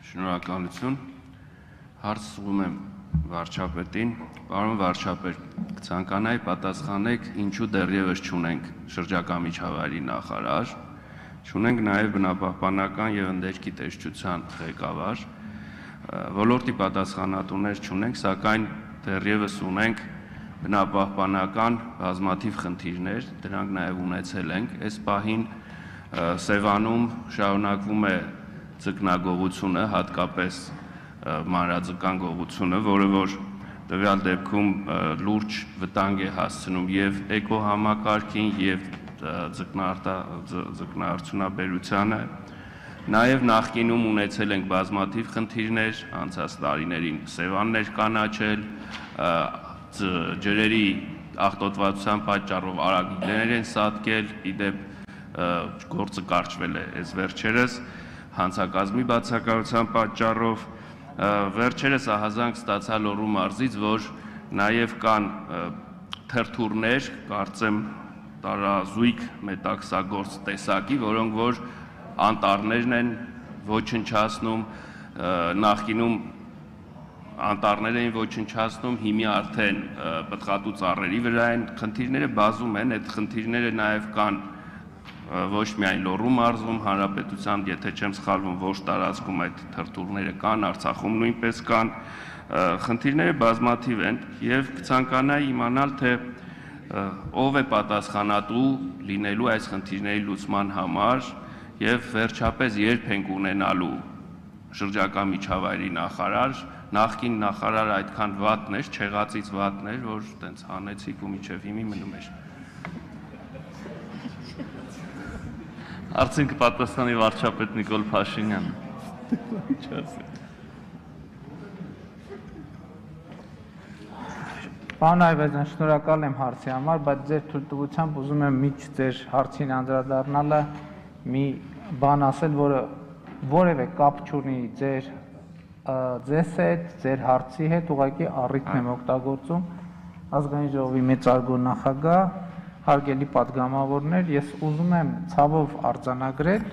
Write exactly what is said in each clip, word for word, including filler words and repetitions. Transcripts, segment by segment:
Շնորհակալություն, հարց ուղղում եմ վարչապետին, պարոն վարչապետ, կցանկանայի պատասխանեք, ինչու դեռևս չունենք շրջակա միջավայրի նախարար, չունենք նաև բնապահպանական եւ ընդերքի տեսչության ղեկավար, ոլորտի պատասխանատուներ չունենք, սակայն դեռևս ունենք բնապահպանական բազմաթիվ խնդիրներ, դրանք նաև ունեցել ենք, այս պահին Սևանում շարունակվում է ձկնագողությունը, հատկապես մանրաձկան գողությունը, որը որ տվյալ դեպքում լուրջ վտանգ է հասցնում եւ էկոհամակարգին եւ ձկնարդյունաբերությանը, նաեւ նախկինում ունեցել ենք բազմաթիվ խնդիրներ, անցած տարիներին Սևաններ կանաչել, ջրերի աղտոտվածության պատճառով արագիլներ են սատկել, իդեպ գործը կարճվել է այս վերջերս, հանցակազմի բացակայության պատճառով, վերջերս ահազանգ ստացա Լոռու մարզից, որ նաև կան թերթուրներ, կարծեմ տարազույգ մետաքսագործ տեսակի, որոնք որ անտառներն են ոչնչացնում, նախկինում անտառներ էին ոչնչացնում, հիմա արդեն պտղատու ծառերի վրա են, խնդիրները բազում են, այդ խնդիրները նաև կան ոչ միայն Լոռու մարզում, հանրապետության, եթե չեմ սխալվում, ոչ տարածքում այդ թրթուրները կան, Արցախում նույնպես կան, խնդիրները բազմաթիվ են եւ կցանկանայի իմանալ, թե ով է պատասխանատու լինելու այս խնդիրների լուծման համար եւ վերջապես երբ ենք ունենալու շրջակա միջավայրի նախարար, նախկին նախարարը այդքան վատն էր, չեղածից վատն էր, որ տենց հանեցիք ու միջև հիմի մնում էր։ Արդյոք պատասխանի վարչապետ Նիկոլ Փաշինյանը։ Պարոն Այվազյան, շնորհակալ եմ հարցի համար, բայց ձեր թույլտվությամբ ուզում եմ միջ ձեր հարցին անդրադառնալը մի բան ասել, որը որևէ կապ չունի ձեր ձեզ հետ, ձեր հարցի հետ, ուղղակի առիթն եմ օգտագործում ազգային ժողովի մեծարգո նախագահ, հարգելի պատգամավորներ, ես ուզում եմ ցավով արձանագրել,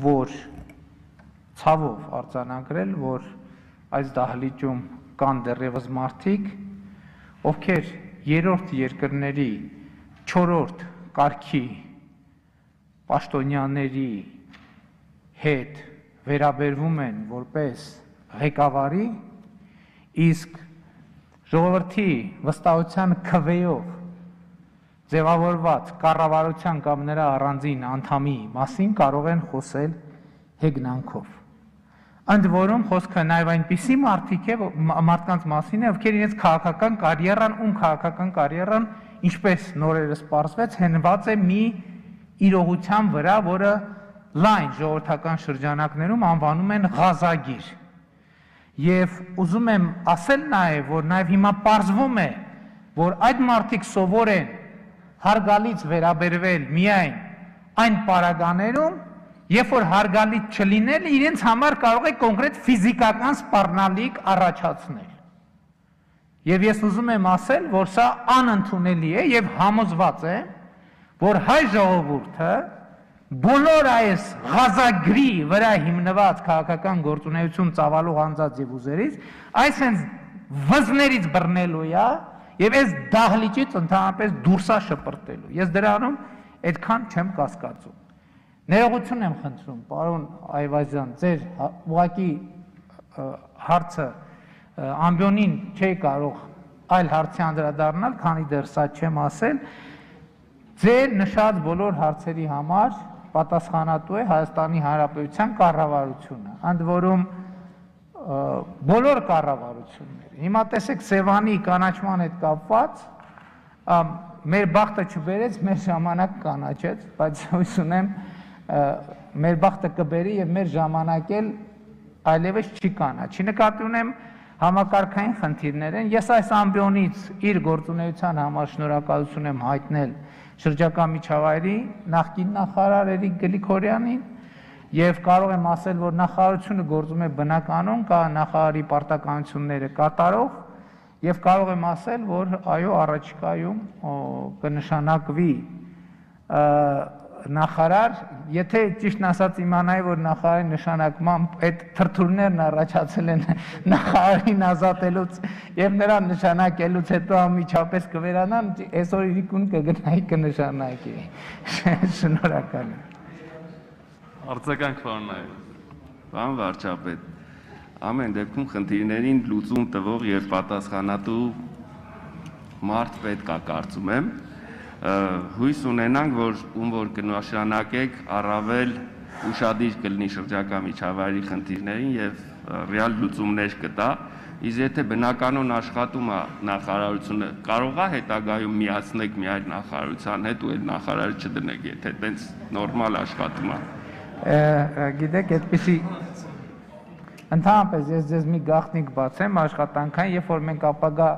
որ ցավով արձանագրել, որ այս դահլիճում կան դեռևս մարդիկ, ովքեր երրորդ երկրների չորրորդ կարգի պաշտոնյաների հետ վերաբերվում են որպես ղեկավարի, իսկ ժողովրդի վստահության քվեով ձևավորված կառավարության կամ նրա առանձին անդամի մասին կարող են խոսել հեգնանքով։ Ընդ որում խոսքը նաև այնպիսի մարդիկ է, մարդկանց մասին է, ովքեր իրենց քաղաքական կարիերան, ում քաղաքական կարիերան, ինչպես նորերս պարզվեց, հենված է մի իրողության վրա, որը լայն ժողովրդական շրջանակներում անվանում են ղազագիր։ Եվ ուզում եմ ասել նաև, որ նաև հիմա պարզվում է, որ այդ մարդիկ սովոր են հարգալից վերաբերվել միայն այն պարագաներում, երբ որ հարգալից չլինել, իրենց համար կարող է կոնկրետ ֆիզիկական սպառնալիք առաջացնել։ Եվ ես ուզում եմ ասել, որ սա անընդունելի է եւ համոզված եմ, որ հայ ժողովուրդը բոլոր այս ղազագրի վրա հիմնված քաղաքական գործունեություն ծավալող անձած եւ ուզերից, այս հենց վզներից բռնելու է եւ այս դահլիճից ընդհանրապես դուրսա շպրտելու։ Ես դրանում այդքան չեմ կասկածում։ Ներողություն եմ խնդրում, պարոն Այվազյան, ձեր ուղղակի հարցը ամբիոնին չէի կարող այլ հարցի անդրադառնալ, քանի դեռ սա չեմ ասել, ձեր նշած բոլոր հարցերի համար պատասխանատու է Հայաստանի Հանրապետության կառավարությունը, ընդ որում բոլոր կառավարությունները։ Հիմա տեսեք Սևանի կանաչման հետ կապված, մեր բախտը չբերեց, մեր ժամանակ կանաչեց, բայց հույս ունեմ մեր բախտը կբերի եւ մեր ժամանակ էլ այլևս չի կանաչի։ Նկատի ունեմ համակարգային խնդիրներ են։ Ես այս ամբիոնից իր գործունեության համար շնորհակալություն եմ հայտնել շրջակա միջավայրի նախկին նախարար Էրիկ Գրիգորյանին եւ կարող եմ ասել, որ նախարարությունը գործում է բնականon, կա նախարարի պարտականությունները կատարող եւ կարող եմ ասել, որ այո, առաջիկայում կնշանակվի նախարար, եթե ճիշտն ասած իմանայի, որ նախարարի նշանակմամբ այդ թրթուրներն առաջացել են նախարարին ազատելուց եւ նրան նշանակելուց հետո անմիջապես կվերանան, այսօր իրիկուն կգնայի կնշանակի։ Շնորհակալ եմ։ Արձագանք Վարնայ։ Պարոն վարչապետ, ամեն դեպքում խնդիրներին լուծում տվող եւ պատասխանատու մարդ պետք է կարծում եմ, հույս ունենանք, որ ում որ կնշանակեք առավել ուշադիր կլինի շրջակա միջավայրի խնդիրներին եւ ռեալ լուծումներ կտա, իսկ եթե բնականon աշխատում է նախարարությունը, կարող է հետագայում միացնեք մի այլ նախարարության հետ ու այդ նախարարը չդնեք, եթե տենց նորմալ աշխատում է։ Գիտեք, այդպեսի ընդհանրապես ես ձեզ մի գաղտնիք բացեմ աշխատանքային, երբ որ մենք ապագա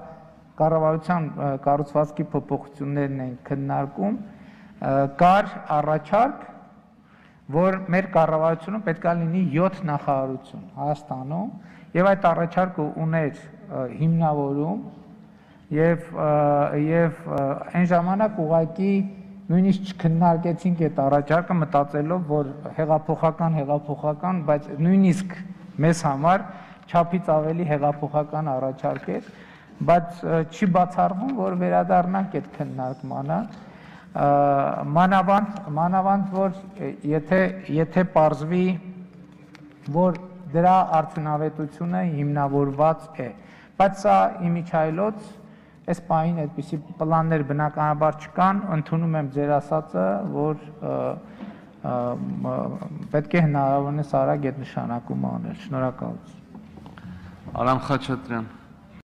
կառավարության կառուցվածքի փոփոխություններն են քննարկում, կար առաջարկ, որ մեր կառավարությունը պետք է լինի յոթ նախարարություն Հայաստանում, եւ այդ առաջարկը ուներ հիմնավորում եւ եւ այն ժամանակ ուղղակի նույնիսկ չքննարկեցինք այդ առաջարկը մտածելով, որ հեղափոխական հեղափոխական, բայց նույնիսկ մեզ համար չափից ավելի հեղափոխական առաջարկ էր, բայց չի բացառվում, որ վերադառնանք այդ քննարկմանը, մանավանդ, մանավանդ, որ եթե եթե պարզվի, որ դրա արդյունավետությունը հիմնավորված է, բայց սա իմիջայլոց, այս պահին այդպիսի պլաններ բնականաբար չկան, ընդունում եմ ձեր ասածը, որ պետք է հնարավորինս արագ այդ նշանակումը անել։ Շնորհակալություն։ Արամ Խաչատրյան։